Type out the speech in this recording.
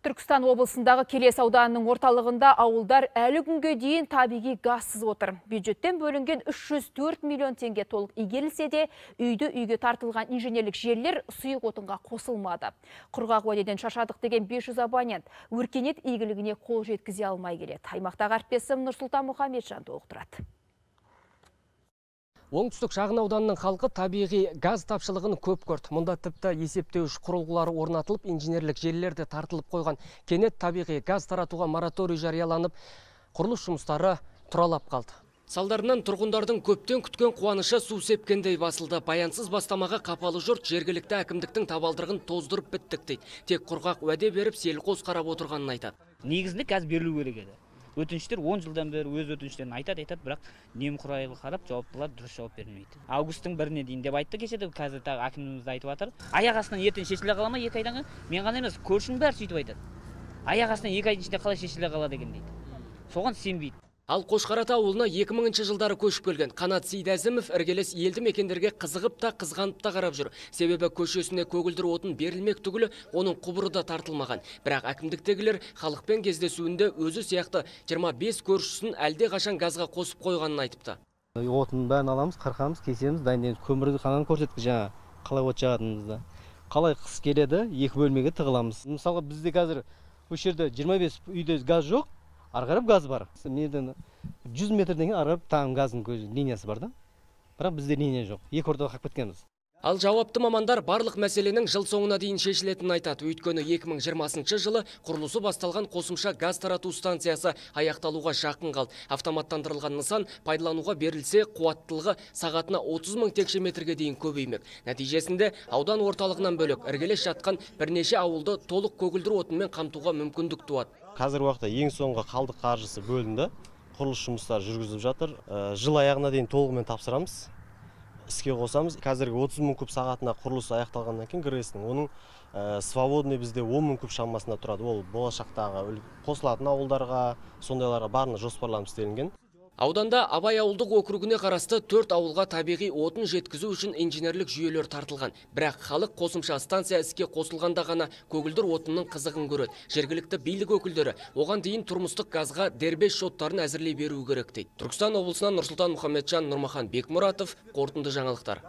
Түркістан облысындағы Келес ауданының орталығында ауылдар әлі күнге дейін табиғи газсыз отыр. Бюджеттен бөлінген 304 миллион теңге толық игерілсе де, үйді-үйге тартылған инженерлік желілер сұйық отынға қосылмады. Құрғақ уәдеден шаршадық деген 500 абонент өркениет игілігіне қол жеткізе алмай келеді. Аймақтағы әріптесім Нұрсұлтан Мұхамеджан толықтырады. Оңтүстік шағын ауданының халқы табиғи газ тапшылығын көп көрді. Мұнда тіпті есептеуіш құрылғылары орнатылып, инженерлік желілерде тартылып қойған. Кенет табиғи газ таратуға мораторий жарияланып, құрылыс жұмыстары тұралап қалды. Салдарынан тұрғындардың көптен күткен қуанышы су сепкендей басылды. Баянсыз бастамаға қапалы жұрт жергілікті әкімдіктің табалдырығын тоздырып біттік дейді. Тек құрғақ уәде беріп, селқос қарап отырғанын айтады. Негізінде газ берілу керек еді. Өтініштер 10 жылдан бері өз өтініштерін айтады, бірақ немқұрайлы қарап, жауаптылар дұрыс жауап бермейді. Августтың 1-іне дейін деп айтты кешеді, қазір тағы әкіміміз айтып жатыр. Аяқ астынан ертең шешіле қала ма 2 айдан кейін? Мен ғана емес, көршінің бәрі сөйтіп айтады. Аяқ астынан 2 айдың ішінде қалай шешіле қала деген дейді. Соған сенбейді. Ал Қошқарата ауылына 2000 жылдары көшіп келген Қанат Сейдәзімов іргелес елді мекендерге қызығып та қызғанып та қарап жүр. Себебі көшесіне көгілдір отын берілмек түгілі оның құбыры да тартылмаған. Бірақ әкімдіктегілер халықпен кездесуінде өзі сияқты 25 көршісін әлде қашан газға қосып қойғанын айтыпты. Отын бәрін аламыз, қырқамыз, кесеміз, дайындаймыз. Көмірді қанан көрсетіп жаңа қалай от жағатынымызды. Қалай қыс келеді, 2 бөлмеге тығыламыз. Мысалға бізде қазір осы жерде 25 үйде газ жоқ. Арғарып газ бар. Менен 100 метрден кейін арғарып тағым газдың линиясы бар да. Бірақ бізде линия жоқ. Екі ортаға қалып кеткенбіз. Ал жауапты мамандар барлық мәселенің жыл соңына дейін шешілетінін айтады. Өйткені 2020 жылы құрылысы басталған қосымша газ тарату станциясы аяқталуға жақын қалды. Автоматтандырылған нысан пайдалануға берілсе, қуаттылығы сағатына 30 мың текше метрге дейін көбеймек. Нәтижесінде аудан орталығынан бөлек іргелес жатқан бірнеше ауылды толық көгілдір отынмен қамтуға мүмкіндік туады. Қазір уақытта ең соңғы қалдық қаржысы бөлінді. Құрылыс жұмыстары жүргізіліп жатыр. Жыл аяғына дейін толығымен тапсырамыз. Іске қосамыз. Қазіргі 30 мың куб сағатына құрылыс аяқталғаннан кейін ГРЭС-ның оның свободный бізде 10 мың куб шамасында тұрады. Ол болашақтағы қосылатын ауылдарға, сондайларға барына жоспарланып істелінген. Ауданда Абай ауылдық округіне қарасты 4 ауылға табиғи отын жеткізу үшін инженерлік жүйелер тартылған. Бірақ халық қосымша станция іске қосылғанда ғана көгілдір отынның қызығын көреді. Жергілікті билік өкілдері оған дейін тұрмыстық газға дербес шоттарын әзірлей беру керек дейді. Түркістан облысынан Нұрсұлтан Мұхамеджан, Нұрмахан Бекмұратов, қорытынды жаңалықтар.